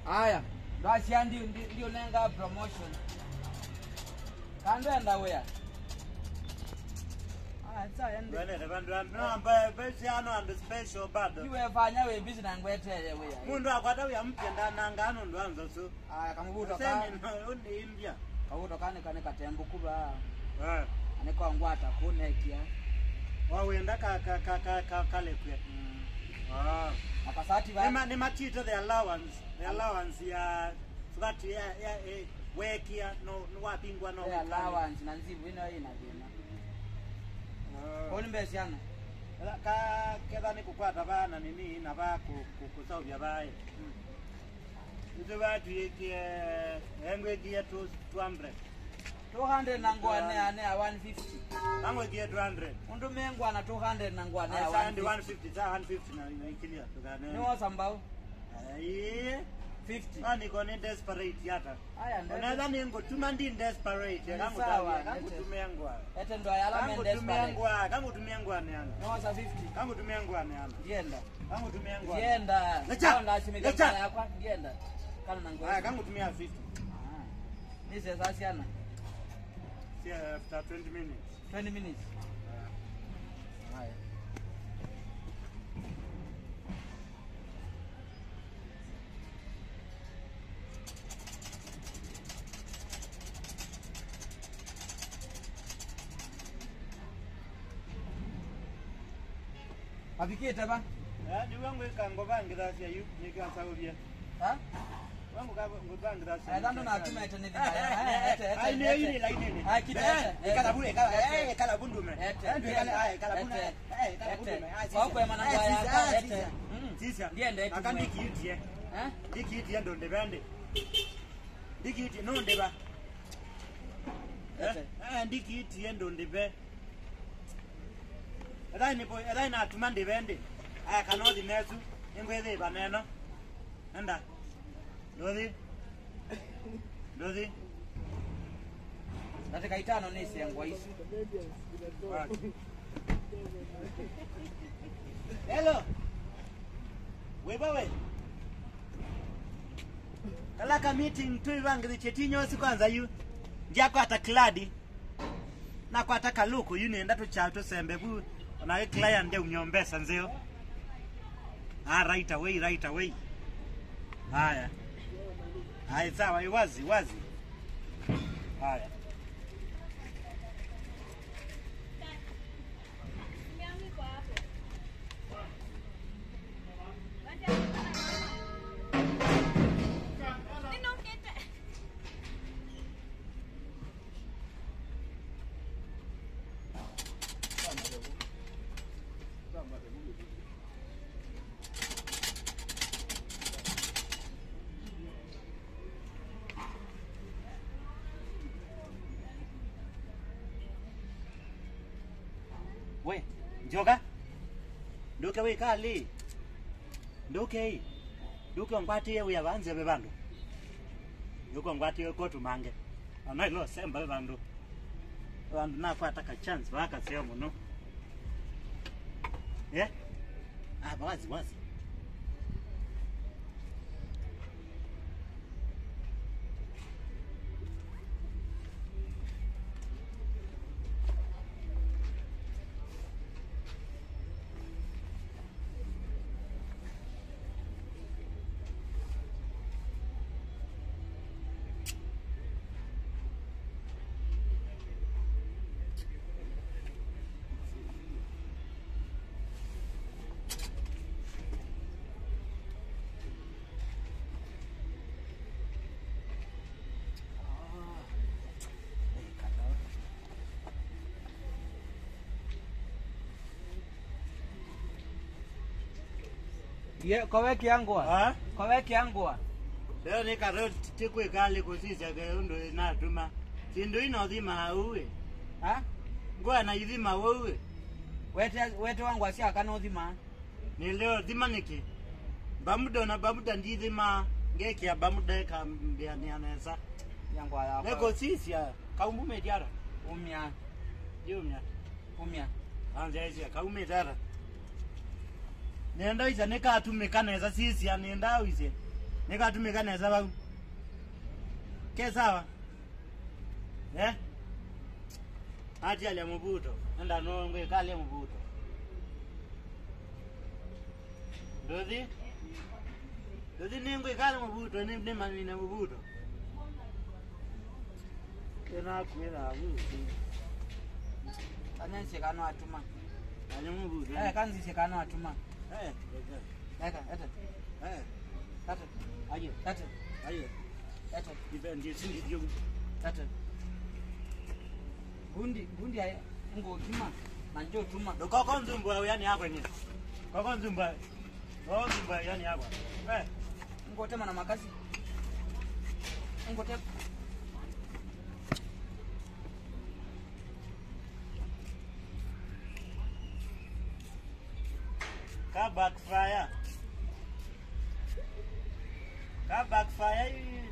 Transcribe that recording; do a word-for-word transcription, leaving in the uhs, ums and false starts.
Aya, ndwasya ndi, ndi, ndiũnenga promotion. Kandwenda wĩa. Aya, nsa ya ndi. Ndwendete vandũ va, no, mba, mba, siano andũ special bado. Iwe fanya wĩ busy na ngwetee wĩa. Mũndũ akwata wĩa mpya ndananga nũndũ wa nzosu. Aya, kamũvuto ka. Semi no, ũnĩimbya. Kavuto ka nĩ, ka nĩ katembũku va. Eh. Na nĩ kongwata kũnekia. Wawenda ka, ka, ka, ka, ka, kalekwe. Mm. Ah. Akasati va. Nĩma, nĩmatite the allowance. The allowance ya, sukati ya, ya, eh, wekia, no, no wapingwa, no. The allowance na nzivu ĩno ĩna thĩna. Ah. Kwa nĩ mbesa siana? Ka, ketha nĩ kũkwata va na nini, na va kũ, kũ, kũsauvya vaĩ. Mm. Nĩtũvatw'ĩkie, engwĩkie two, two hundred. Two hundred na ngũa nĩ ya, nĩ ya one fifty. Angwĩkie two hundred. Ũndũ me ngũa na two hundred na ngũa nĩ ya one fifty. Asa ndi one fifty, sa one fifty na, na ikilia, tũkanene. Nĩ wosa mbau? Ai. Fifty. Ah, niko nĩ desperate hata. Aya, ndete. Onetha nĩ ngũtuma ndi desperate, nĩ sawa, kangũtavia, kangũtumia ngũa. Ete ndo yala me desperate. Kangũtumia ngũa, kangũtumia ngũa nĩ ana. Nĩ wosa fifty. Kangũtumia ngũa nĩ ana. Ndienda. Kangũtumia ngũa. Ndienda. Lecha. Lecha. Yakwa, ndienda. Kana na ngũa. Aya, kangũtumia fifty. Ah. Nĩ sesa siana. Yeah, after twenty minutes. Twenty minutes. Yeah. Haya. Avikĩte va? Eh, nĩw'o ngwĩka ngũvangĩthasya yu, nĩkĩo nsaũvye. Ha? Wangũka ngũvangĩthasya. Eh, thando natumete nĩ thĩna. Eh, ete, ete, ai, nĩ ete. Yu nĩ lainĩnĩ. Ah, kita, eh, ete, ete. Ikala vu, ikala, eh, ikala vu ndume. Ete, eh, ndio ikala, ete, ah, ikala vu, ete, eh, ikala vu ndume. Ah, sisya. Wakwema na ngwa yaka, ete. Sisya. Mm. Sisya. Ndiendete. Aka ndikiitie. Eh? Ndikiitie ndo ndĩve ndi. Ndikiitie, no ndĩva. Eh? Ete. Eh, ndikiitie ndo ndĩve. Ethai nĩpo, ethai natuma ndĩve ndi. Aya kana ũthi nesu, nĩngwĩthĩĩva neno. Enda. Ndũthi. Ndũthi. Ndatĩka itano nĩsengwa isu. Hello. Wĩva we? Kala ka meeting twĩvangĩthĩtye ti nyosi kwanza yu. Ndyakwata kladi. Nakwata kalũkũ yu nĩenda tũkya tũsembe vu, ona wĩ client ndeumya mbesa nzeo. Ah, right away, right away. Haya. Haya, sawa, i wazi, wazi. Haya. We, njoka. Nduke wĩkalĩ. Nduke ĩ. Nduke ũngwatĩe wĩa vaa nzeve vandũ. Nduke ũngwatĩe kũtũ mange. Ana ilo semba vandũ. Vandũ nakwata ka chance vaa kaseo mũno. Eh? Ah, wazi, wazi. Ye, kowekĩa ngũa. Ha? Kowekĩa ngũa. Leo nĩ karoti ti kwĩkalĩ kũsisya ke ũndũ natuma. Syĩndũ ino thima ũu ĩ. Ha? Ngũa na ithima ũu ĩ. Wete, wete wa ngũa sya kana ũthima. Nĩ leo thima nĩkĩ? Bamuda na bamuda ndithima, ngekĩa bamuda ĩkambĩanĩa nesa. Ya ngũa yakwa. Nĩkũsisya, kaumbu mĩtiara. Umya. Yumya. Umya. Anzya ĩsya, kaumĩte ata? Nenda ĩsya nĩkatumĩka nesa, sisya, nenda ũisye. Nĩkatumĩka nesa vau. Ke sawa? Eh? Atialya mũvuto. Enda no ngwĩkalya mũvuto. Ndũthi? Ndũthi nĩ ngwĩkalya mũvuto, nĩ, nĩ mamine mũvuto. Ĩnakwĩra vu. Kanyansie kana atuma. Kanya mũvuto. Eh, kanzisye kana atuma. Eh, eka. Eka, ete. Eh. Tate. Aye. Tate. Aye. Tate. Ibe ndiye sindi ndiyo. Tate. Gundi, gundi aye ngokima na njotuma. Ndũkoko nzumbu yani yakwa ni. Koko nzumbu. Koko nzumbu yani yakwa. Eh. Ngotema na makasi. Ngotema. Ka backfire. Ka backfire.